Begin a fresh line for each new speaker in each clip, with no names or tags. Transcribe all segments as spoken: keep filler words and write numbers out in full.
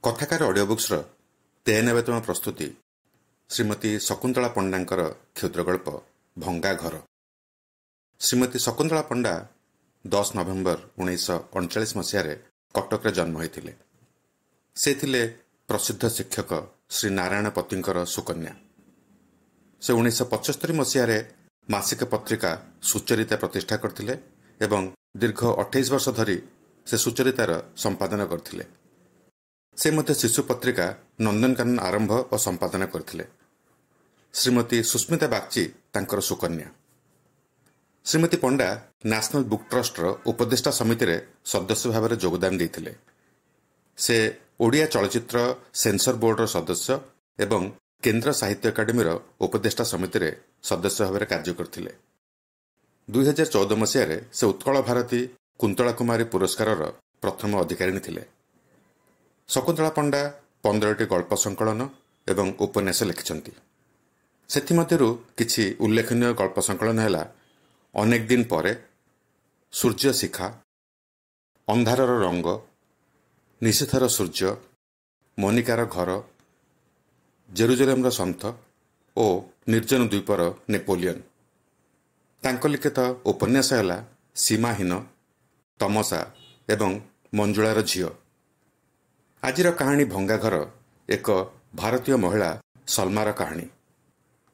କଥାକାର ଅଡ଼ିଓ ବୁକ୍ସର ତେୟାନବେତମ ପ୍ରସ୍ତୁତି ଶ୍ରୀମତୀ ଶକୁନ୍ତଳା ପଣ୍ଡାଙ୍କର କ୍ଷୁଦ୍ରଗଳ୍ପ ଭଙ୍ଗା ଘର। ଶ୍ରୀମତୀ ଶକୁନ୍ତଳା ପଣ୍ଡା ଦଶ ନଭେମ୍ବର ଉଣେଇଶହ ଅଣଚାଳିଶ ମସିହାରେ କଟକରେ ଜନ୍ମ ହୋଇଥିଲେ। ସେ ଥିଲେ ପ୍ରସିଦ୍ଧ ଶିକ୍ଷକ ଶ୍ରୀ ନାରାୟଣ ପତିଙ୍କର ସୁକନ୍ୟା। ସେ ଉଣେଇଶହ ପଞ୍ଚସ୍ତରୀ ମସିହାରେ ମାସିକ ପତ୍ରିକା ସୁଚରିତା ପ୍ରତିଷ୍ଠା କରିଥିଲେ ଏବଂ ଦୀର୍ଘ ଅଠେଇଶ ବର୍ଷ ଧରି ସେ ସୁଚରିତାର ସମ୍ପାଦନା କରିଥିଲେ। ସେ ମଧ୍ୟ ଶିଶୁ ପତ୍ରିକା ନନ୍ଦନକାନନ ଆରମ୍ଭ ଓ ସମ୍ପାଦନା କରିଥିଲେ। ଶ୍ରୀମତୀ ସୁସ୍ମିତା ବାଗ୍ଚୀ ତାଙ୍କର ସୁକନ୍ୟା। ଶ୍ରୀମତୀ ପଣ୍ଡା ନ୍ୟାସନାଲ ବୁକ୍ ଟ୍ରଷ୍ଟର ଉପଦେଷ୍ଟା ସମିତିରେ ସଦସ୍ୟ ଭାବରେ ଯୋଗଦାନ ଦେଇଥିଲେ। ସେ ଓଡ଼ିଆ ଚଳଚ୍ଚିତ୍ର ସେନ୍ସର ବୋର୍ଡର ସଦସ୍ୟ ଏବଂ କେନ୍ଦ୍ର ସାହିତ୍ୟ ଏକାଡେମୀର ଉପଦେଷ୍ଟା ସମିତିରେ ସଦସ୍ୟ ଭାବରେ କାର୍ଯ୍ୟ କରିଥିଲେ। ଦୁଇହଜାର ଚଉଦ ମସିହାରେ ସେ ଉତ୍କଳ ଭାରତୀ କୁନ୍ତଳା କୁମାରୀ ପୁରସ୍କାରର ପ୍ରଥମ ଅଧିକାରିଣୀ ଥିଲେ। ଶକୁନ୍ତଳା ପଣ୍ଡା ପନ୍ଦରଟି ଗଳ୍ପ ସଂକଳନ ଏବଂ ଉପନ୍ୟାସ ଲେଖିଛନ୍ତି। ସେଥିମଧ୍ୟରୁ କିଛି ଉଲ୍ଲେଖନୀୟ ଗଳ୍ପ ସଂକଳନ ହେଲା ଅନେକ ଦିନ ପରେ, ସୂର୍ଯ୍ୟ ଶିଖା, ଅନ୍ଧାରର ରଙ୍ଗ, ନିଶୀଥର ସୂର୍ଯ୍ୟ, ମନିକାର ଘର, ଜେରୁଜେଲମର ସନ୍ଥ ଓ ନିର୍ଜନ ଦ୍ୱୀପର ନେପୋଲିୟନ। ତାଙ୍କ ଲିଖିତ ଉପନ୍ୟାସ ହେଲା ସୀମାହୀନ, ତମସା ଏବଂ ମଞ୍ଜୁଳାର ଝିଅ। ଆଜିର କାହାଣୀ ଭଙ୍ଗାଘର ଏକ ଭାରତୀୟ ମହିଳା ସଲମାର କାହାଣୀ।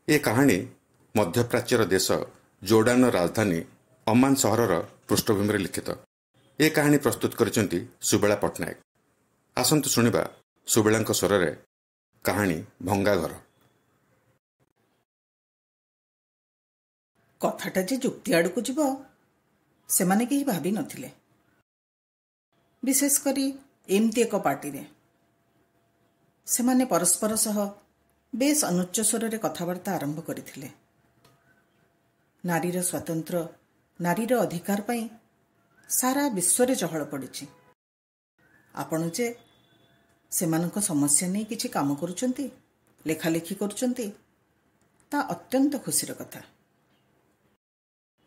ଏ କାହାଣୀ ମଧ୍ୟପ୍ରାଚ୍ୟର ଦେଶ ଜୋର୍ଡାନର ରାଜଧାନୀ ଅମାନ ସହରର ପୃଷ୍ଠଭୂମିରେ ଲିଖିତ। ଏ କାହାଣୀ ପ୍ରସ୍ତୁତ କରିଛନ୍ତି ସୁବେଳା ପଟ୍ଟନାୟକ। ଆସନ୍ତୁ ଶୁଣିବା ସୁବେଳାଙ୍କ ସ୍ୱରରେ କାହାଣୀ ଭଙ୍ଗାଘର।
କଥାଟା ଯେ ଯୁକ୍ତି ଆଡ଼କୁ ଯିବ ସେମାନେ କେହି ଭାବି ନଥିଲେ, ବିଶେଷ କରି ଏମିତି ଏକ ପାର୍ଟିରେ। ସେମାନେ ପରସ୍ପର ସହ ବେଶ ଅନୁଚ୍ଚ ସ୍ୱରରେ କଥାବାର୍ତ୍ତା ଆରମ୍ଭ କରିଥିଲେ। ନାରୀର ସ୍ୱାତନ୍ତ୍ର, ନାରୀର ଅଧିକାର ପାଇଁ ସାରା ବିଶ୍ୱରେ ଚହଳ ପଡ଼ିଛି। ଆପଣ ଯେ ସେମାନଙ୍କ ସମସ୍ୟା ନେଇ କିଛି କାମ କରୁଛନ୍ତି, ଲେଖାଲେଖି କରୁଛନ୍ତି, ତା ଅତ୍ୟନ୍ତ ଖୁସିର କଥା।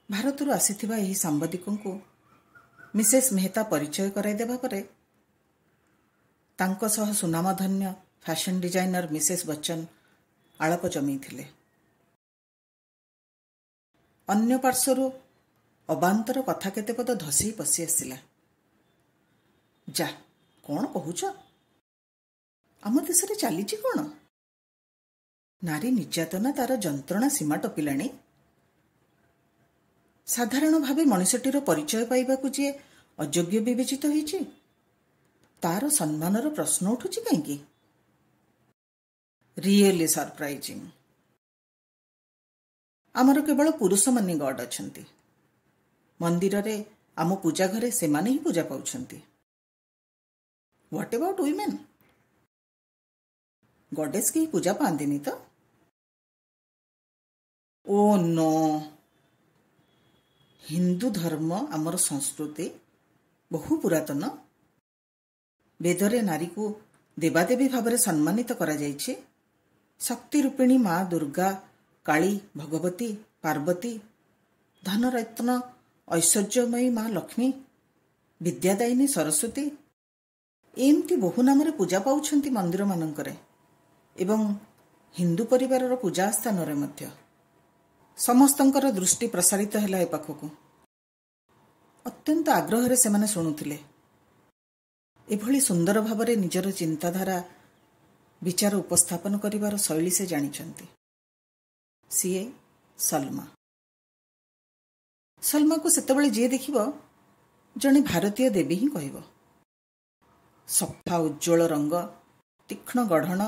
ଭାରତରୁ ଆସିଥିବା ଏହି ସାମ୍ବାଦିକଙ୍କୁ ମିସେସ୍ ମେହତା ପରିଚୟ କରାଇଦେବା ପରେ ତାଙ୍କ ସହ ସୁନାମଧନ୍ୟ ଫ୍ୟାସନ୍ ଡିଜାଇନର ମିସେସ୍ ବଚ୍ଚନ ଆଳାପ ଜମେଇଥିଲେ। ଅନ୍ୟ ପାର୍ଶ୍ୱରୁ ଅବାନ୍ତର କଥା କେତେ ପଦ ଧସେଇ ପଶି ଆସିଲା। ଯା, କ'ଣ କହୁଛ? ଆମ ଦେଶରେ ଚାଲିଛି କ'ଣ? ନାରୀ ନିର୍ଯାତନା ତାର ଯନ୍ତ୍ରଣା ସୀମା ଟପିଲାଣି। ସାଧାରଣ ଭାବେ ମଣିଷଟିର ପରିଚୟ ପାଇବାକୁ ଯିଏ ଅଯୋଗ୍ୟ ବିବେଚିତ ହୋଇଛି, ତାର ସମ୍ମାନର ପ୍ରଶ୍ନ ଉଠୁଛି କାହିଁକି? Really surprising. ଆମର କେବଳ ପୁରୁଷମାନେ ଗଡ୍ ଅଛନ୍ତି। ମନ୍ଦିରରେ, ଆମ ପୂଜା ଘରେ ସେମାନେ ହିଁ ପୂଜା ପାଉଛନ୍ତି। What about women? Goddess କେହି ପୂଜା ପାଆନ୍ତିନି ତ? ଓ ନୋ, ହିନ୍ଦୁ ଧର୍ମ ଆମର ସଂସ୍କୃତି ବହୁ ପୁରାତନ। ବେଦରେ ନାରୀକୁ ଦେବାଦେବୀ ଭାବରେ ସମ୍ମାନିତ କରାଯାଇଛି। ଶକ୍ତି ରୂପିଣୀ ମା ଦୁର୍ଗା, କାଳୀ, ଭଗବତୀ, ପାର୍ବତୀ, ଧନରତ୍ନ ଐଶ୍ୱର୍ଯ୍ୟମୟୀ ମା ଲକ୍ଷ୍ମୀ, ବିଦ୍ୟାଦାୟିନୀ ସରସ୍ୱତୀ, ଏମିତି ବହୁ ନାମରେ ପୂଜା ପାଉଛନ୍ତି ମନ୍ଦିରମାନଙ୍କରେ ଏବଂ ହିନ୍ଦୁ ପରିବାରର ପୂଜା ସ୍ଥାନରେ ମଧ୍ୟ। ସମସ୍ତଙ୍କର ଦୃଷ୍ଟି ପ୍ରସାରିତ ହେଲା ଏ ପାଖକୁ। ଅତ୍ୟନ୍ତ ଆଗ୍ରହରେ ସେମାନେ ଶୁଣୁଥିଲେ। ଏଭଳି ସୁନ୍ଦର ଭାବରେ ନିଜର ଚିନ୍ତାଧାରା, ବିଚାର ଉପସ୍ଥାପନ କରିବାର ଶୈଳୀ ସେ ଜାଣିଛନ୍ତି। ସିଏ ସଲମା। ସଲମାକୁ ସେତେବେଳେ ଯିଏ ଦେଖିବ ଜଣେ ଭାରତୀୟ ଦେବୀ ହିଁ କହିବ। ସଫା ଉଜ୍ଜ୍ୱଳ ରଙ୍ଗ, ତୀକ୍ଷ୍ଣ ଗଢ଼ଣ,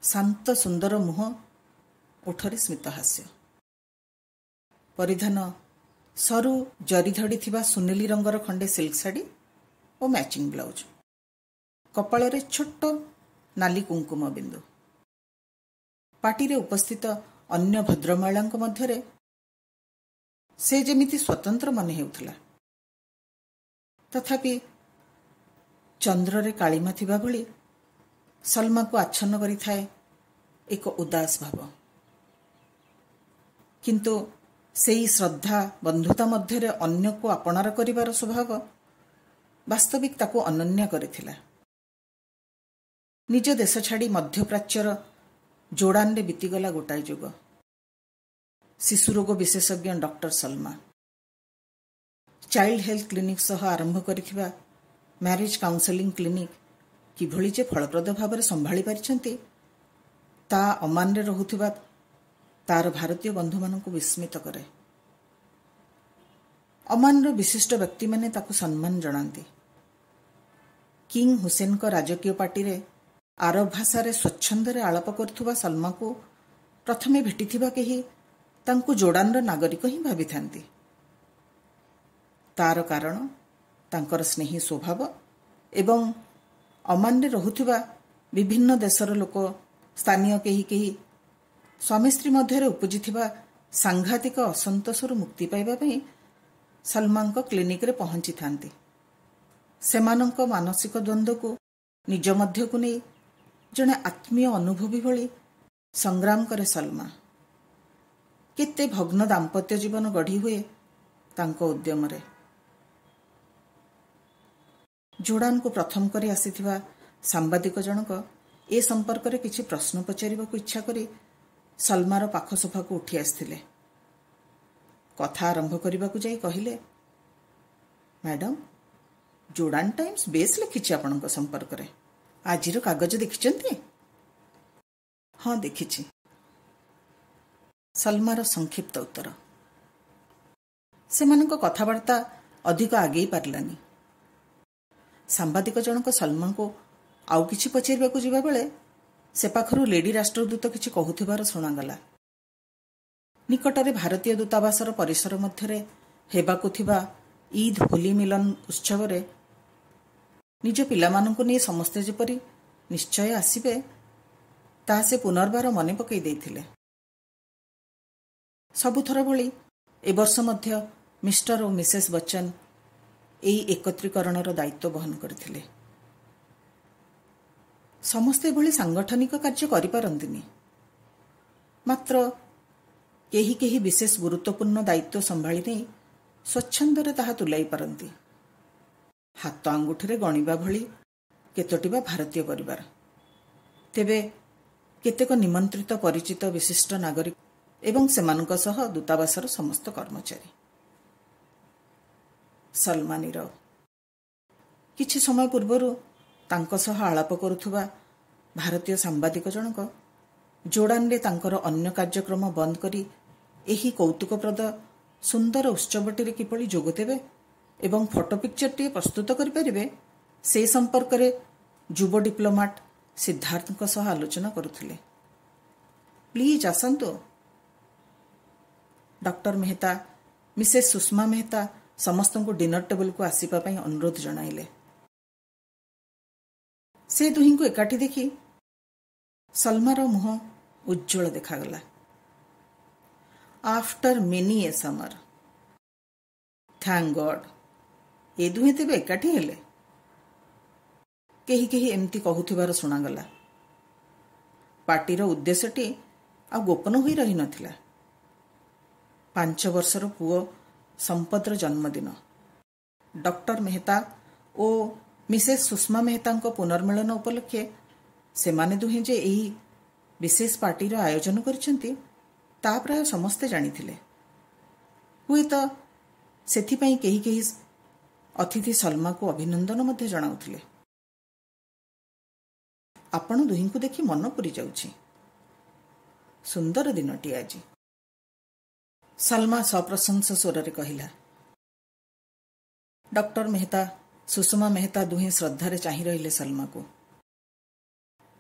ଶାନ୍ତ ସୁନ୍ଦର ମୁହଁ, ଓଠରେ ସ୍ମିତହାସ୍ୟ। ପରିଧାନ ସରୁ ଜରି ଧଡ଼ି ଥିବା ସୁନେଲି ରଙ୍ଗର ଖଣ୍ଡେ ସିଲ୍କ ଶାଢ଼ୀ ଓ ମ୍ୟାଚିଂ ବ୍ଲାଉଜ। କପାଳରେ ଛୋଟ ନାଲି କୁଙ୍କୁମ ବିନ୍ଦୁ। ପାର୍ଟିରେ ଉପସ୍ଥିତ ଅନ୍ୟ ଭଦ୍ରମହିଳାଙ୍କ ମଧ୍ୟରେ ସେ ଯେମିତି ସ୍ୱତନ୍ତ୍ର ମନେ ହେଉଥିଲା। ତଥାପି ଚନ୍ଦ୍ରରେ କାଳିମା ଥିବା ଭଳି ସଲମାକୁ ଆଚ୍ଛନ୍ନ କରିଥାଏ ଏକ ଉଦାସ ଭାବ। କିନ୍ତୁ ସେଇ ଶ୍ରଦ୍ଧା ବନ୍ଧୁତା ମଧ୍ୟରେ ଅନ୍ୟକୁ ଆପଣାର କରିବାର ସ୍ୱଭାବ ବାସ୍ତବିକ ତାକୁ ଅନନ୍ୟ କରିଥିଲା। ନିଜ ଦେଶ ଛାଡ଼ି ମଧ୍ୟପ୍ରାଚ୍ୟର ଜୋର୍ଡାନରେ ବିତିଗଲା ଗୋଟାଏ ଯୁଗ। ଶିଶୁରୋଗ ବିଶେଷଜ୍ଞ doctor Salma child health clinic ସହ ଆରମ୍ଭ କରିଥିବା ମ୍ୟାରେଜ୍ କାଉନସେଲିଂ କ୍ଲିନିକ୍ କିଭଳି ଯେ ଫଳପ୍ରଦ ଭାବରେ ସମ୍ଭାଳି ପାରିଛନ୍ତି, ତା ଅମାନରେ ରହୁଥିବା ତାର ଭାରତୀୟ ବନ୍ଧୁମାନଙ୍କୁ ବିସ୍ମିତ କରେ। ଅମାନର ବିଶିଷ୍ଟ ବ୍ୟକ୍ତିମାନେ ତାକୁ ସମ୍ମାନ ଜଣାନ୍ତି। କିଙ୍ଗ ହୁସେନଙ୍କ ରାଜକୀୟ ପାର୍ଟିରେ ଆରବ ଭାଷାରେ ସ୍ୱଚ୍ଛନ୍ଦରେ ଆଳାପ କରୁଥିବା ସଲମାକୁ ପ୍ରଥମେ ଭେଟିଥିବା କେହି ତାଙ୍କୁ ଜୋର୍ଡାନର ନାଗରିକ ହିଁ ଭାବିଥାନ୍ତି। ତାର କାରଣ ତାଙ୍କର ସ୍ନେହୀ ସ୍ୱଭାବ ଏବଂ ଅମାନରେ ରହୁଥିବା ବିଭିନ୍ନ ଦେଶର ଲୋକ, ସ୍ଥାନୀୟ କେହି କେହି ସ୍ୱାମୀ ସ୍ତ୍ରୀ ମଧ୍ୟରେ ଉପୁଜିଥିବା ସାଂଘାତିକ ଅସନ୍ତୋଷରୁ ମୁକ୍ତି ପାଇବା ପାଇଁ ସଲମାଙ୍କ କ୍ଲିନିକରେ ପହଞ୍ଚିଥାନ୍ତି। ସେମାନଙ୍କ ମାନସିକ ଦ୍ୱନ୍ଦ୍ୱକୁ ନିଜ ମଧ୍ୟକୁ ନେଇ ଜଣେ ଆତ୍ମୀୟ ଅନୁଭୂତି ଭଳି ସଂଗ୍ରାମ କରେ ସଲମା। କେତେ ଭଗ୍ନ ଦାମ୍ପତ୍ୟ ଜୀବନ ଗଢ଼ି ହୁଏ ତାଙ୍କ ଉଦ୍ୟମରେ। ଜୋର୍ଡାନକୁ ପ୍ରଥମ କରି ଆସିଥିବା ସାମ୍ବାଦିକ ଜଣକ ଏ ସମ୍ପର୍କରେ କିଛି ପ୍ରଶ୍ନ ପଚାରିବାକୁ ଇଚ୍ଛା କରି ସଲମାର ପାଖ ସୋଫାକୁ ଉଠି ଆସିଥିଲେ। କଥା ଆରମ୍ଭ କରିବାକୁ ଯାଇ କହିଲେ, ମ୍ୟାଡାମ, ଜୋର୍ଡାନ ଟାଇମ୍ସ ବେଶ୍ ଲେଖିଛି ଆପଣଙ୍କ ସମ୍ପର୍କରେ। ଆଜିର କାଗଜ ଦେଖିଛନ୍ତି? ହଁ, ଦେଖିଛି, ସଲମାର ସଂକ୍ଷିପ୍ତ ଉତ୍ତର। ସେମାନଙ୍କ କଥାବାର୍ତ୍ତା ଅଧିକ ଆଗେଇ ପାରିଲାନି। ସାମ୍ବାଦିକ ଜଣକ ସଲମାଙ୍କୁ ଆଉ କିଛି ପଚାରିବାକୁ ଯିବାବେଳେ ସେ ପାଖରୁ ଲେଡି ରାଷ୍ଟ୍ରଦୂତ କିଛି କହୁଥିବାର ଶୁଣାଗଲା। ନିକଟରେ ଭାରତୀୟ ଦୂତାବାସର ପରିସର ମଧ୍ୟରେ ହେବାକୁ ଥିବା ଇଦ୍ ହୋଲି ମିଲନ ଉତ୍ସବରେ ନିଜ ପିଲାମାନଙ୍କୁ ନେଇ ସମସ୍ତେ ଯେପରି ନିଶ୍ଚୟ ଆସିବେ, ତାହା ସେ ପୁନର୍ବାର ମନେ ପକାଇ ଦେଇଥିଲେ। ସବୁଥର ଭଳି ଏବର୍ଷ ମଧ୍ୟ ମିଷ୍ଟର ଓ ମିସେସ୍ ବଚ୍ଚନ ଏହି ଏକତ୍ରୀକରଣର ଦାୟିତ୍ୱ ବହନ କରିଥିଲେ। ସମସ୍ତେ ଏଭଳି ସାଂଗଠନିକ କାର୍ଯ୍ୟ କରିପାରନ୍ତିନି, ମାତ୍ର କେହି କେହି ବିଶେଷ ଗୁରୁତ୍ୱପୂର୍ଣ୍ଣ ଦାୟିତ୍ୱ ସମ୍ଭାଳି ନେଇ ସ୍ୱଚ୍ଛନ୍ଦରେ ତାହା ତୁଲାଇ ପାରନ୍ତି। ହାତ ଆଙ୍ଗୁଠିରେ ଗଣିବା ଭଳି କେତୋଟି ବା ଭାରତୀୟ ପରିବାର। ତେବେ କେତେକ ନିମନ୍ତ୍ରିତ ପରିଚିତ ବିଶିଷ୍ଟ ନାଗରିକ ଏବଂ ସେମାନଙ୍କ ସହ ଦୂତାବାସର ସମସ୍ତ କର୍ମଚାରୀ। ସଲମା ନୀରବ। କିଛି ସମୟ ପୂର୍ବରୁ ତାଙ୍କ ସହ ଆଳାପ କରୁଥିବା ଭାରତୀୟ ସାମ୍ବାଦିକ ଜଣକ ଜୋର୍ଡାନରେ ତାଙ୍କର ଅନ୍ୟ କାର୍ଯ୍ୟକ୍ରମ ବନ୍ଦ କରି ଏହି କୌତୁକପ୍ରଦ ସୁନ୍ଦର ଉତ୍ସବଟିରେ କିଭଳି ଯୋଗ ଦେବେ ଏବଂ ଫଟୋ ପିକ୍ଚରଟିଏ ପ୍ରସ୍ତୁତ କରିପାରିବେ, ସେ ସମ୍ପର୍କରେ ଯୁବ ଡିପ୍ଲୋମାଟ ସିଦ୍ଧାର୍ଥଙ୍କ ସହ ଆଲୋଚନା କରୁଥିଲେ। ପ୍ଲିଜ୍ ଆସନ୍ତୁ। ଡକ୍ଟର ମେହତା, ମିସେସ୍ ସୁଷମା ମେହତା ସମସ୍ତଙ୍କୁ ଡିନର ଟେବୁଲକୁ ଆସିବା ପାଇଁ ଅନୁରୋଧ ଜଣାଇଲେ। ସେ ଦୁହିଁଙ୍କୁ ଏକାଠି ଦେଖି ସଲମାର ମୁହଁ ଉଜ୍ଜ୍ୱଳ ଦେଖାଗଲା। After many a summer, thank God, ଏ ଦୁହେଁ ତେବେ ଏକାଠି ହେଲେ। କେହି କେହି ଏମିତି କହୁଥିବାର ଶୁଣାଗଲା। ପାର୍ଟିର ଉଦ୍ଦେଶ୍ୟଟି ଆଉ ଗୋପନ ହୋଇ ରହିନଥିଲା। ପାଞ୍ଚ ବର୍ଷର ପୁଅ ସମ୍ପଦର ଜନ୍ମଦିନ। ଡକ୍ଟର ମେହତା ଓ ମିସେସ୍ ସୁଷମା ମେହତାଙ୍କ ପୁନର୍ମିଳନ ଉପଲକ୍ଷେ ସେମାନେ ଦୁହେଁ ଯେ ଏହି ବିଶେଷ ପାର୍ଟିର ଆୟୋଜନ କରିଛନ୍ତି, ତା ପ୍ରାୟ ସମସ୍ତେ ଜାଣିଥିଲେ। ହୁଏତ ସେଥିପାଇଁ କେହି କେହି ଅତିଥି ସଲମାକୁ ଅଭିନନ୍ଦନ ମଧ୍ୟ ଜଣାଉଥିଲେ। ଆପଣ ଦୁହିଁଙ୍କୁ ଦେଖି ମନ ପୁରି ଯାଉଛି। ସୁନ୍ଦର ଦିନଟିଏ ଆଜି, ସଲମା ସପ୍ରଶଂସ ସ୍ୱରରେ କହିଲା। ଡକ୍ଟର ମେହତା, ସୁଷମା ମେହତା ଦୁହେଁ ଶ୍ରଦ୍ଧାରେ ଚାହିଁ ରହିଲେ ସଲମାକୁ।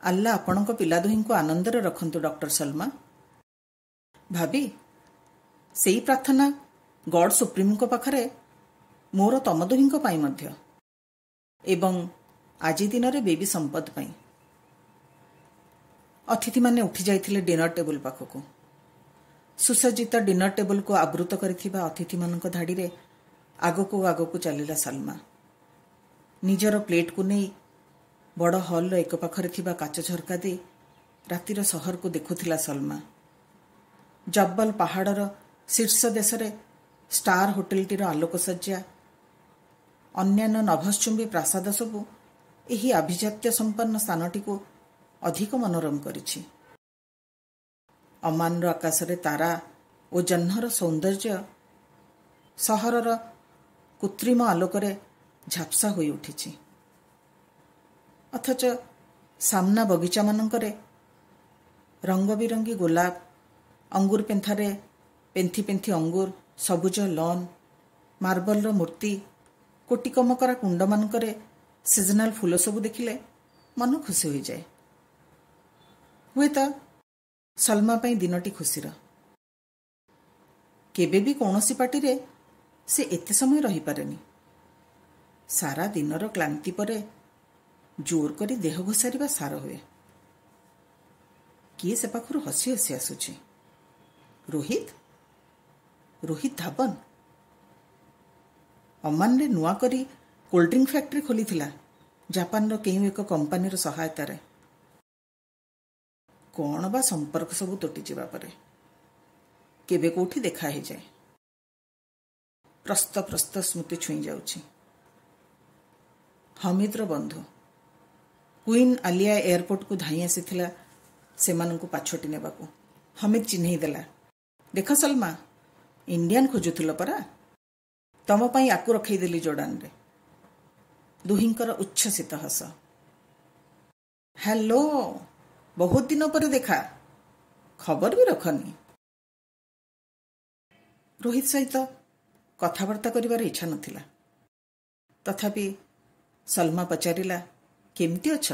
ଆଲ୍ଲା ଆପଣଙ୍କ ପିଲା ଦୁହିଁଙ୍କୁ ଆନନ୍ଦରେ ରଖନ୍ତୁ ଡକ୍ଟର ସଲମା। ଭାବି, ସେଇ ପ୍ରାର୍ଥନା ଗଡ୍ ସୁପ୍ରିମଙ୍କ ପାଖରେ ମୋର ତମ ଦୁହିଁଙ୍କ ପାଇଁ ମଧ୍ୟ, ଏବଂ ଆଜି ଦିନରେ ବେବି ସମ୍ପଦ ପାଇଁ। ଅତିଥିମାନେ ଉଠି ଯାଇଥିଲେ ଡିନର ଟେବୁଲ ପାଖକୁ। ସୁସଜ୍ଜିତ ଡିନର ଟେବୁଲକୁ ଆବୃତ କରିଥିବା ଅତିଥିମାନଙ୍କ ଧାଡ଼ିରେ ଆଗକୁ ଆଗକୁ ଚାଲିଲା ସଲମା। ନିଜର ପ୍ଲେଟକୁ ନେଇ ବଡ଼ ହଲ୍ର ଏକ ପାଖରେ ଥିବା କାଚ ଝରକା ଦେଇ ରାତିର ସହରକୁ ଦେଖୁଥିଲା ସଲମା। ଜବ୍ବଲ ପାହାଡ଼ର ଶୀର୍ଷ ଦେଶରେ ଷ୍ଟାର ହୋଟେଲଟିର ଆଲୋକସଜ୍ଜା, ଅନ୍ୟାନ୍ୟ ନଭଶ୍ଚୁମ୍ବୀ ପ୍ରାସାଦ ସବୁ ଏହି ଆଭିଜାତ୍ୟ ସମ୍ପନ୍ନ ସ୍ଥାନଟିକୁ ଅଧିକ ମନୋରମ କରିଛି। ଅମାନର ଆକାଶରେ ତାରା ଓ ଜହ୍ନର ସୌନ୍ଦର୍ଯ୍ୟ ସହରର କୃତ୍ରିମ ଆଲୋକରେ ଝାପ୍ସା ହୋଇ ଉଠିଛି। ଅଥଚ ସାମ୍ନା ବଗିଚାମାନଙ୍କରେ ରଙ୍ଗବିରଙ୍ଗୀ ଗୋଲାପ, ଅଙ୍ଗୁର ପେନ୍ଥାରେ ପେନ୍ଥି ପେନ୍ଥି ଅଙ୍ଗୁର, ସବୁଜ ଲନ୍, ମାର୍ବଲର ମୂର୍ତ୍ତି, କୋଟିକମକରା କୁଣ୍ଡମାନଙ୍କରେ ସିଜନାଲ ଫୁଲ ସବୁ ଦେଖିଲେ ମନ ଖୁସି ହୋଇଯାଏ। ହୁଏତ ସଲମା ପାଇଁ ଦିନଟି ଖୁସିର। କେବେ ବି କୌଣସି ପାର୍ଟିରେ ସେ ଏତେ ସମୟ ରହିପାରେନି। ସାରା ଦିନର କ୍ଳାନ୍ତି ପରେ ଜୋର କରି ଦେହ ଘୋଷାରିବା ସାର ହୁଏ। କିଏ ସେ ପାଖରୁ ହସି ହସି ଆସୁଛି। ରୋହିତ, ରୋହିତ ଧାବନ। ଅମାନରେ ନୂଆ କରି କୋଲ୍ଡ ଡ୍ରିଙ୍କ ଫ୍ୟାକ୍ଟ୍ରି ଖୋଲିଥିଲା ଜାପାନର କେଉଁ ଏକ କମ୍ପାନୀର ସହାୟତାରେ। କ'ଣ ବା ସମ୍ପର୍କ ସବୁ ତୁଟିଯିବା ପରେ କେବେ କୋଉଠି ଦେଖା ହେଇଯାଏ। ପ୍ରସ୍ତ ପ୍ରସ୍ତ ସ୍ମୃତି ଛୁଇଁ ଯାଉଛି। ହମିଦର ବନ୍ଧୁ କୁଇନ୍ ଆଲିଆ ଏୟାରପୋର୍ଟକୁ ଧାଇଁ ଆସିଥିଲା ସେମାନଙ୍କୁ ପାଛୋଟି ନେବାକୁ। ହମିଦ ଚିହ୍ନେଇ ଦେଲା, ଦେଖ ସଲମା, ଇଣ୍ଡିଆନ୍ ଖୋଜୁଥିଲ ପରା, ତମ ପାଇଁ ଆକୁ ରଖେଇଦେଲି ଜୋର୍ଡାନରେ। ଦୁହିଁଙ୍କର ଉଚ୍ଛ୍ୱସିତ ହସ। ହ୍ୟାଲୋ, ବହୁତ ଦିନ ପରେ ଦେଖା, ଖବର ବି ରଖନି। ରୋହିତ ସହିତ କଥାବାର୍ତ୍ତା କରିବାର ଇଚ୍ଛା ନଥିଲା। ତଥାପି ସଲମା ପଚାରିଲା, କେମିତି ଅଛ?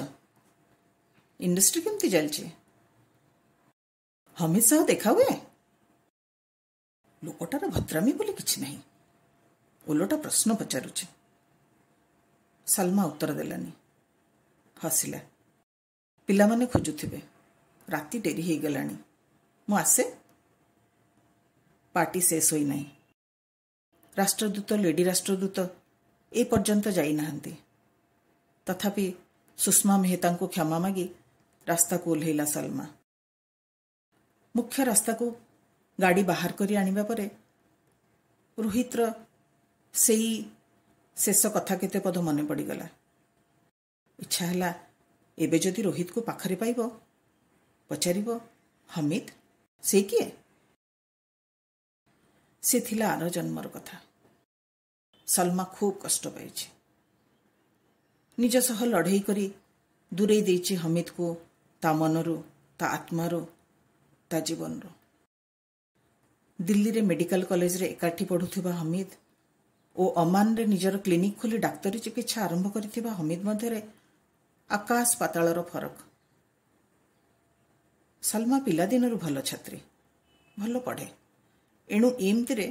ଇଣ୍ଡଷ୍ଟ୍ରି କେମିତି ଚାଲିଛି? ହମିଦ ସହ ଦେଖା ହୁଏ? ଲୋକଟାର ଭଦ୍ରାମି ବୋଲି କିଛି ନାହିଁ, ଓଲଟା ପ୍ରଶ୍ନ ପଚାରୁଛି। ସଲମା ଉତ୍ତର ଦେଲାନି, ହସିଲା। ପିଲାମାନେ ଖୋଜୁଥିବେ, ରାତି ଡେରି ହେଇଗଲାଣି, ମୁଁ ଆସେ। ପାର୍ଟି ଶେଷ ହୋଇନାହିଁ। ରାଷ୍ଟ୍ରଦୂତ, ଲେଡି ରାଷ୍ଟ୍ରଦୂତ ଏ ପର୍ଯ୍ୟନ୍ତ ଯାଇନାହାନ୍ତି। ତଥାପି ସୁଷମା ମେହେତାଙ୍କୁ କ୍ଷମା ମାଗି ରାସ୍ତାକୁ ଓହ୍ଲେଇଲା ସଲମା। ମୁଖ୍ୟ ରାସ୍ତାକୁ ଗାଡ଼ି ବାହାର କରି ଆଣିବା ପରେ ରୋହିତର ସେଇ ଶେଷ କଥା କେତେ ପଦ ମନେ ପଡ଼ିଗଲା। ଇଚ୍ଛା ହେଲା ଏବେ ଯଦି ରୋହିତକୁ ପାଖରେ ପାଇବ, ପଚାରିବ, ହମିଦ ସେ କିଏ? ସେ ଥିଲା ଆର ଜନ୍ମର କଥା। ସଲମା ଖୁବ୍ କଷ୍ଟ ପାଇଛି। ନିଜ ସହ ଲଢ଼େଇ କରି ଦୂରେଇ ଦେଇଛି ହମିଦକୁ ତା ମନରୁ, ତା ଆତ୍ମାରୁ, ତା ଜୀବନରୁ। ଦିଲ୍ଲୀରେ ମେଡିକାଲ କଲେଜରେ ଏକାଠି ପଢ଼ୁଥିବା ହମିଦ ଓ ଅମାନରେ ନିଜର କ୍ଲିନିକ୍ ଖୋଲି ଡାକ୍ତରୀ ଚିକିତ୍ସା ଆରମ୍ଭ କରିଥିବା ହମିଦ ମଧ୍ୟରେ ଆକାଶ ପାତାଳର ଫରକ। ସଲମା ପିଲାଦିନରୁ ଭଲ ଛାତ୍ରୀ, ଭଲ ପଢ଼େ। ଏଣୁ ଏମିତିରେ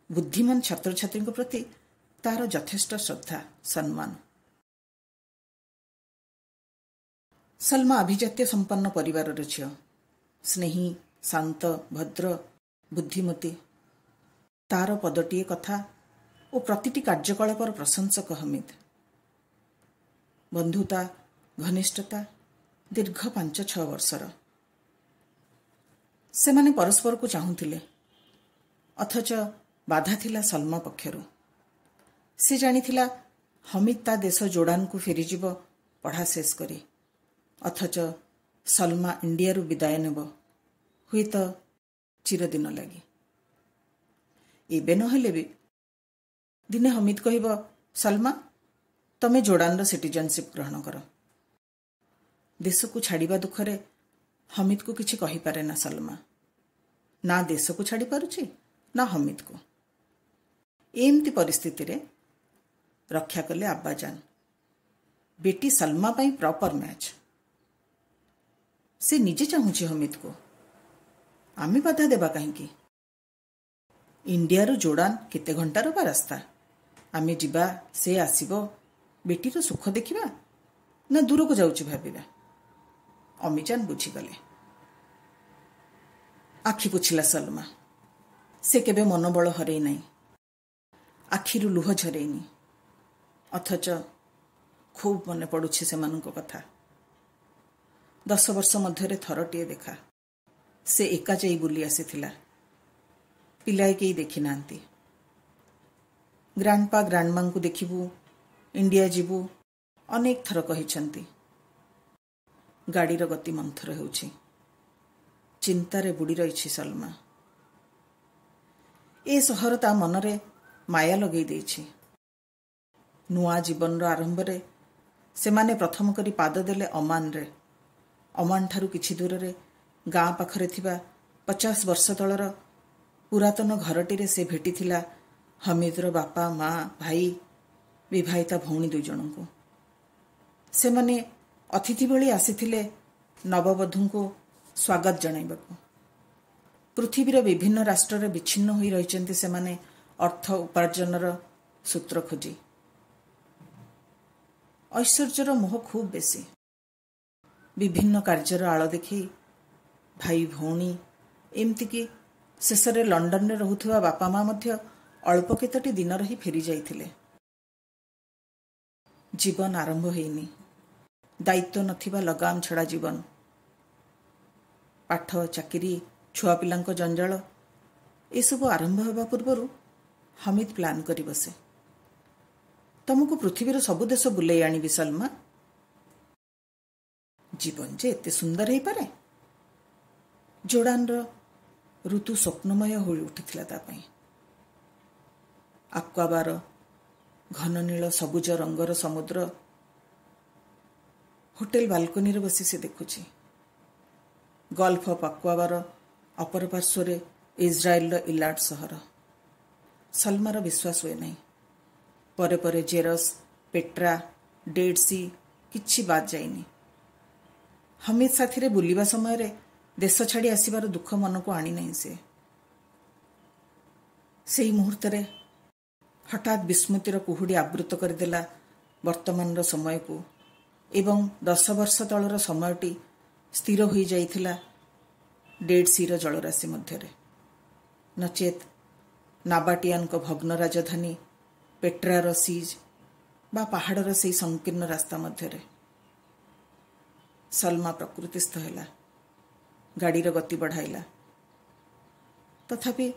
ବୁଦ୍ଧିମାନ ଛାତ୍ରଛାତ୍ରୀଙ୍କ ପ୍ରତି ତାର ଯଥେଷ୍ଟ ଶ୍ରଦ୍ଧା, ସମ୍ମାନ। ସଲମା ଆଭିଜାତ୍ୟ ସମ୍ପନ୍ନ ପରିବାରର ଝିଅ, ସ୍ନେହୀ, ଶାନ୍ତ, ଭଦ୍ର, ବୁଦ୍ଧିମତୀ। ତାର ପଦଟିଏ କଥା ଓ ପ୍ରତିଟି କାର୍ଯ୍ୟକଳାପର ପ୍ରଶଂସକ ହମିଦ। ବନ୍ଧୁତା, ଘନିଷ୍ଠତା ଦୀର୍ଘ ପାଞ୍ଚ ଛଅ ବର୍ଷର। ସେମାନେ ପରସ୍ପରକୁ ଚାହୁଁଥିଲେ, ଅଥଚ ବାଧା ଥିଲା ସଲମା ପକ୍ଷରୁ। ସେ ଜାଣିଥିଲା ହମିଦ ତା ଦେଶ ଜୋର୍ଡାନକୁ ଫେରିଯିବ ପଢ଼ା ଶେଷ କରି, ଅଥଚ ସଲମା ଇଣ୍ଡିଆରୁ ବିଦାୟ ନେବ, ହୁଏତ ଚିରଦିନ ଲାଗି। ଏବେ ନହେଲେ ବି ଦିନେ ହମିଦ କହିବ, ସଲମା ତମେ ଜୋର୍ଡାନର ସିଟିଜେନସିପ୍ ଗ୍ରହଣ କର। ଦେଶକୁ ଛାଡ଼ିବା ଦୁଃଖରେ ହମିଦକୁ କିଛି କହିପାରେ ନା ସଲମା। ନା ଦେଶକୁ ଛାଡ଼ି ପାରୁଛି ନା ହମିଦକୁ। ଏମିତି ପରିସ୍ଥିତିରେ ରକ୍ଷା କଲେ ଆବ୍ବାଜାନ। ବେଟି ସଲମା ପାଇଁ ପ୍ରପର ମ୍ୟାଚ୍। ସେ ନିଜେ ଚାହୁଁଛି ହମିଦକୁ, ଆମେ ବାଧା ଦେବା କାହିଁକି? ଇଣ୍ଡିଆରୁ ଜୋର୍ଡାନ କେତେ ଘଣ୍ଟାର ବା ରାସ୍ତା? ଆମେ ଯିବା, ସେ ଆସିବ, ବେଟିର ସୁଖ ଦେଖିବା ନା ଦୂରକୁ ଯାଉଛି ଭାବିବା? ଅମିଜାନ ବୁଝିଗଲେ। ଆଖି ପୋଛିଲା ସଲମା। ସେ କେବେ ମନୋବଳ ହରେଇ ନାହିଁ, ଆଖିରୁ ଲୁହ ଝରେଇନି। ଅଥଚ ଖୁବ୍ ମନେ ପଡୁଛି ସେମାନଙ୍କ କଥା। ଦଶ ବର୍ଷ ମଧ୍ୟରେ ଥରଟିଏ ଦେଖା। ସେ ଏକା ଯାଇ ବୁଲି ଆସିଥିଲା, ପିଲାଏ କେହି ଦେଖିନାହାନ୍ତି। ଗ୍ରାଣ୍ଡପା ଗ୍ରାଣ୍ଡମାଙ୍କୁ ଦେଖିବୁ, ଇଣ୍ଡିଆ ଯିବୁ ଅନେକ ଥର କହିଛନ୍ତି। ଗାଡ଼ିର ଗତି ମନ୍ଥର ହେଉଛି। ଚିନ୍ତାରେ ବୁଡ଼ି ରହିଛି ସଲମା। ଏ ସହର ତା ମନରେ ମାୟା ଲଗେଇ ଦେଇଛି। ନୂଆ ଜୀବନର ଆରମ୍ଭରେ ସେମାନେ ପ୍ରଥମ କରି ପାଦ ଦେଲେ ଅମାନରେ। ଅମାନଠାରୁ କିଛି ଦୂରରେ ଗାଁ ପାଖରେ ଥିବା ପଚାଶ ବର୍ଷ ତଳର ପୁରାତନ ଘରଟିରେ ସେ ଭେଟିଥିଲା ହମିଦର ବାପା, ମା, ଭାଇ, ବିବାହିତା ଭଉଣୀ ଦୁଇ ଜଣଙ୍କୁ। ସେମାନେ ଅତିଥି ଭଳି ଆସିଥିଲେ ନବବଧୂଙ୍କୁ ସ୍ୱାଗତ ଜଣାଇବାକୁ। ପୃଥିବୀର ବିଭିନ୍ନ ରାଷ୍ଟ୍ରରେ ବିଚ୍ଛିନ୍ନ ହୋଇ ରହିଛନ୍ତି ସେମାନେ ଅର୍ଥ ଉପାର୍ଜନର ସୂତ୍ର ଖୋଜି। ଐଶ୍ୱର୍ଯ୍ୟର ମୋହ ଖୁବ୍ ବେଶୀ। ବିଭିନ୍ନ କାର୍ଯ୍ୟର ଆଳ ଦେଖେଇ ଭାଇ ଭଉଣୀ, ଏମିତିକି ଶେଷରେ ଲଣ୍ଡନରେ ରହୁଥିବା ବାପା ମା ମଧ୍ୟ ଅଳ୍ପ କେତୋଟି ଦିନ ରହି ଫେରି ଯାଇଥିଲେ। ଜୀବନ ଆରମ୍ଭ ହେଇନି, ଦାୟିତ୍ୱ ନଥିବା ଲଗାମ ଛଡ଼ା ଜୀବନ। ପାଠ, ଚାକିରି, ଛୁଆ ପିଲାଙ୍କ ଜଞ୍ଜାଳ, ଏସବୁ ଆରମ୍ଭ ହେବା ପୂର୍ବରୁ ହମିଦ ପ୍ଲାନ୍ କରି ବସେ। ତମକୁ ପୃଥିବୀର ସବୁ ଦେଶ ବୁଲେଇ ଆଣିବି ସଲମା। ଜୀବନ ଯେ ଏତେ ସୁନ୍ଦର ହେଇପାରେ! ଜୋର୍ଡାନର ଋତୁ ସ୍ୱପ୍ନମୟ ହୋଇ ଉଠିଥିଲା ତା ପାଇଁ। ଆକ୍ୱାବାର ଘନ ନୀଳ ସବୁଜ ରଙ୍ଗର ସମୁଦ୍ର ହୋଟେଲ ବାଲକୋନିରେ ବସି ସେ ଦେଖୁଛି। ଗଲ୍ଫ ଅଫ୍ ଆକ୍ୱାବାର ଅପର ପାର୍ଶ୍ୱରେ ଇସ୍ରାଏଲର ଇଲାଟ ସହର। ସଲମାର ବିଶ୍ୱାସ ହୁଏ ନାହିଁ। ପରେ ପରେ ଜେରସ୍, ପେଟ୍ରା, ଡେଡ୍ ସି କିଛି ବାଦ୍ ଯାଇନି। ହମିଦ ସାଥିରେ ବୁଲିବା ସମୟରେ ଦେଶ ଛାଡ଼ି ଆସିବାର ଦୁଃଖ ମନକୁ ଆଣିନାହିଁ ସେ। ସେଇ ମୁହୂର୍ତ୍ତରେ ହଠାତ୍ ବିସ୍ମୃତିର କୁହୁଡ଼ି ଆବୃତ କରିଦେଲା ବର୍ତ୍ତମାନର ସମୟକୁ ଏବଂ ଦଶ ବର୍ଷ ତଳର ସମୟଟି ସ୍ଥିର ହୋଇଯାଇଥିଲା ଡେଡ୍ ସିର ଜଳରାଶି ମଧ୍ୟରେ। ନଚେତ୍ ନାବାଟିଆନଙ୍କ ଭଗ୍ନ ରାଜଧାନୀ ପେଟ୍ରାର ସିଜ୍ ବା ପାହାଡ଼ର ସେଇ ସଂକୀର୍ଣ୍ଣ ରାସ୍ତା ମଧ୍ୟରେ। ସଲମା ପ୍ରକୃତିସ୍ଥ ହେଲା। ଗାଡ଼ିର ଗତି ବଢ଼ାଇଲା। ତଥାପି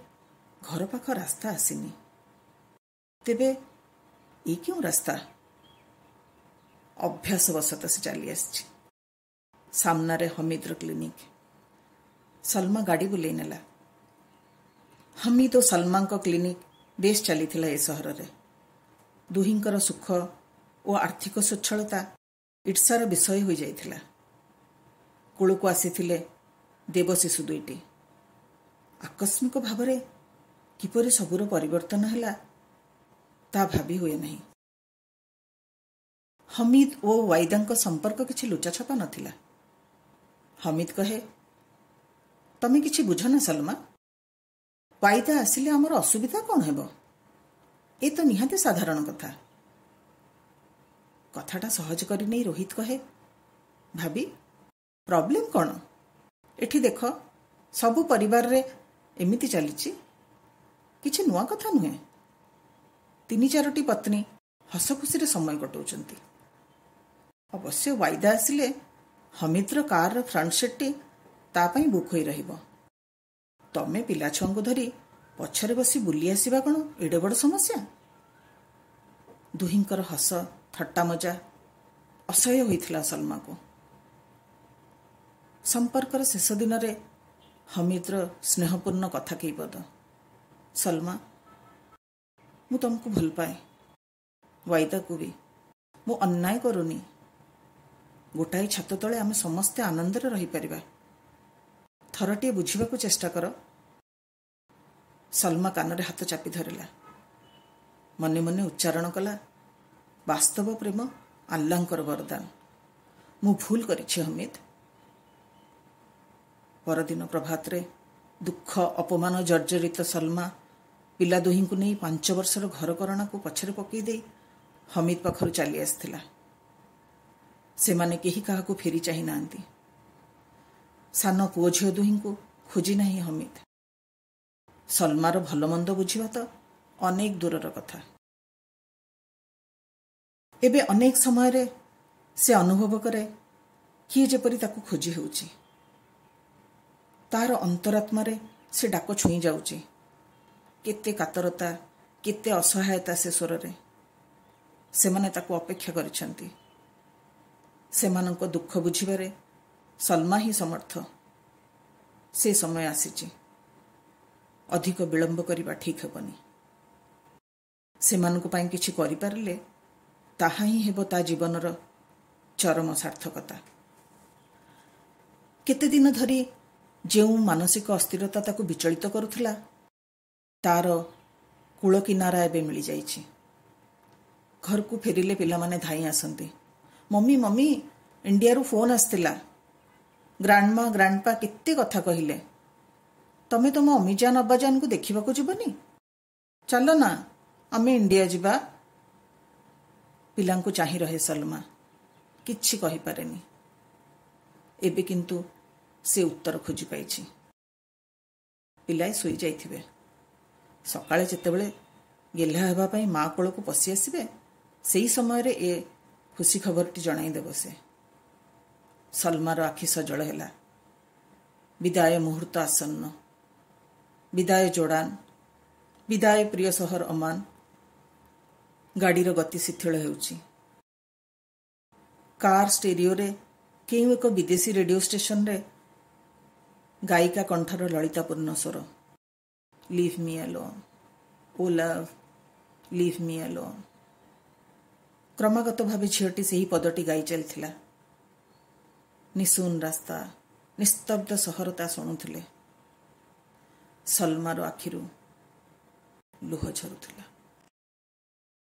ଘର ପାଖ ରାସ୍ତା ଆସିନି। ତେବେ ଏ କେଉଁ ରାସ୍ତା? ଅଭ୍ୟାସବଶତଃ ସେ ଚାଲି ଆସିଛି। ସାମ୍ନାରେ ହମିଦର କ୍ଲିନିକ୍। ସଲମା ଗାଡ଼ି ବୁଲେଇ ନେଲା। ହମିଦ ଓ ସଲମାଙ୍କ କ୍ଲିନିକ୍ ବେଶ୍ ଚାଲିଥିଲା ଏ ସହରରେ। ଦୁହିଁଙ୍କର ସୁଖ ଓ ଆର୍ଥିକ ସ୍ୱଚ୍ଛଳତା ଈର୍ଷାର ବିଷୟ ହୋଇଯାଇଥିଲା। କୂଳକୁ ଆସିଥିଲେ ଦେବଶିଶୁ ଦୁଇଟି। ଆକସ୍ମିକ ଭାବରେ କିପରି ସବୁର ପରିବର୍ତ୍ତନ ହେଲା ତା ଭାବି ହୁଏ ନାହିଁ। ହମିଦ ଓ ୱାଇଦାଙ୍କ ସମ୍ପର୍କ କିଛି ଲୁଚାଛପା ନଥିଲା। ହମିଦ କହେ, ତମେ କିଛି ବୁଝ ନା ସଲମା, ୱାଇଦା ଆସିଲେ ଆମର ଅସୁବିଧା କ'ଣ ହେବ? ଏ ତ ନିହାତି ସାଧାରଣ କଥା। କଥାଟା ସହଜ କରି ନେଇ ରୋହିତ କହେ, ଭାବି ପ୍ରୋବ୍ଲେମ କ'ଣ? ଏଠି ଦେଖ, ସବୁ ପରିବାରରେ ଏମିତି ଚାଲିଛି, କିଛି ନୂଆ କଥା ନୁହେଁ। ତିନି ଚାରୋଟି ପତ୍ନୀ ହସ ଖୁସିରେ ସମୟ କଟାଉଛନ୍ତି। ଅବଶ୍ୟ ୱାଇଦା ଆସିଲେ ହମିଦର କାରର ଫ୍ରଣ୍ଟ ସିଟ୍ଟି ତା ପାଇଁ ବୁକ୍ ହୋଇ ରହିବ। ତମେ ପିଲା ଛୁଆଙ୍କୁ ଧରି ପଛରେ ବସି ବୁଲି ଆସିବା କ'ଣ ଏଡ଼େ ବଡ଼ ସମସ୍ୟା? ଦୁହିଁଙ୍କର ହସ ଥଟ୍ଟା ମଜା ଅସହ୍ୟ ହୋଇଥିଲା ସଲମାକୁ। ସମ୍ପର୍କର ଶେଷ ଦିନରେ ହମିଦର ସ୍ନେହପୂର୍ଣ୍ଣ କଥା କେଇପଦ, ସଲମା, ମୁଁ ତମକୁ ଭଲ ପାଏ, ୱାଇଦାକୁ ବି। ମୁଁ ଅନ୍ୟାୟ କରୁନି। ଗୋଟାଏ ଛାତ ତଳେ ଆମେ ସମସ୍ତେ ଆନନ୍ଦରେ ରହିପାରିବା। ଥରଟିଏ ବୁଝିବାକୁ ଚେଷ୍ଟା କର। ସଲମା କାନରେ ହାତ ଚାପି ଧରିଲା। ମନେ ମନେ ଉଚ୍ଚାରଣ କଲା, ବାସ୍ତବ ପ୍ରେମ ଆଲ୍ଲାହଙ୍କର ବରଦାନ। ମୁଁ ଭୁଲ କରିଛି ହମିଦ। ପରଦିନ ପ୍ରଭାତରେ ଦୁଃଖ ଅପମାନ ଜର୍ଜରିତ ସଲମା ପିଲା ଦୁହିଁଙ୍କୁ ନେଇ ପାଞ୍ଚ ବର୍ଷର ଘରକରଣାକୁ ପଛରେ ପକାଇ ଦେଇ ହମିଦ ପାଖରୁ ଚାଲି ଆସିଥିଲା। ସେମାନେ କେହି କାହାକୁ ଫେରି ଚାହିଁ ନାହାନ୍ତି। ସାନ ପୁଅ ଝିଅ ଦୁହିଁଙ୍କୁ ଖୋଜି ନାହିଁ ହମିଦ। ସଲମାର ଭଲମନ୍ଦ ବୁଝିବା ତ ଅନେକ ଦୂରର କଥା। ଏବେ ଅନେକ ସମୟରେ ସେ ଅନୁଭବ କରେ କିଏ ଯେପରି ତାକୁ ଖୋଜି ହେଉଛି। ତାର ଅନ୍ତରାତ୍ମାରେ ସେ ଡାକ ଛୁଇଁ ଯାଉଛି। କେତେ କାତରତା, କେତେ ଅସହାୟତା ସେ ସ୍ୱରରେ। ସେମାନେ ତାକୁ ଅପେକ୍ଷା କରିଛନ୍ତି। ସେମାନଙ୍କ ଦୁଃଖ ବୁଝିବାରେ ସଲମା ହିଁ ସମର୍ଥ। ସେ ସମୟ ଆସିଛି, ଅଧିକ ବିଳମ୍ବ କରିବା ଠିକ୍ ହେବନି। ସେମାନଙ୍କ ପାଇଁ କିଛି କରିପାରିଲେ ତାହା ହିଁ ହେବ ତା ଜୀବନର ଚରମ ସାର୍ଥକତା। କେତେ ଦିନ ଧରି ଯେଉଁ ମାନସିକ ଅସ୍ଥିରତା ତାକୁ ବିଚଳିତ କରୁଥିଲା, ତାର କୂଳ କିନାରା ଏବେ ମିଳିଯାଇଛି। ଘରକୁ ଫେରିଲେ ପିଲାମାନେ ଧାଇଁ ଆସନ୍ତି। ମମ୍ମି ମମ୍ମି, ଇଣ୍ଡିଆରୁ ଫୋନ୍ ଆସିଥିଲା, ଗ୍ରାଣ୍ଡମା ଗ୍ରାଣ୍ଡପା କେତେ କଥା କହିଲେ। ତମେ ତମ ଅମିଜାନ ଅବ୍ବାଜାନଙ୍କୁ ଦେଖିବାକୁ ଯିବନି? ଚାଲ ନା, ଆମେ ଇଣ୍ଡିଆ ଯିବା। ପିଲାଙ୍କୁ ଚାହିଁ ରହେ ସଲମା, କିଛି କହିପାରେନି। ଏବେ କିନ୍ତୁ ସେ ଉତ୍ତର ଖୋଜି ପାଇଛି। ପିଲାଏ ଶୋଇଯାଇଥିବେ। ସକାଳେ ଯେତେବେଳେ ଗେହ୍ଲା ହେବା ପାଇଁ ମା କୋଳକୁ ପଶି ଆସିବେ, ସେହି ସମୟରେ ଏ ଖୁସି ଖବରଟି ଜଣାଇଦେବ ସେ। ସଲମାର ଆଖି ସଜଳ ହେଲା। ବିଦାୟ ମୁହୂର୍ତ୍ତ ଆସନ୍ନ। ବିଦାୟ ଜୋର୍ଡାନ, ବିଦାୟ ପ୍ରିୟ ସହର ଅମାନ। ଗାଡ଼ିର ଗତି ଶିଥିଳ ହେଉଛି। କାର୍ ଷ୍ଟେରିଓରେ କେଉଁ ଏକ ବିଦେଶୀ ରେଡିଓ ଷ୍ଟେସନରେ ଗାୟିକା କଣ୍ଠର ଲଳିତାପୂର୍ଣ୍ଣ ସ୍ୱର, leave me alone, oh love, leave me alone. କ୍ରମାଗତ ଭାବେ ଝିଅଟି ସେହି ପଦଟି ଗାଇ ଚାଲିଥିଲା। ନିଶୂନ ରାସ୍ତା, ନିସ୍ତବ୍ଧ ସହର ତା ଶୁଣୁଥିଲେ। ସଲମାର ଆଖିରୁ ଲୁହ ଝରୁଥିଲା।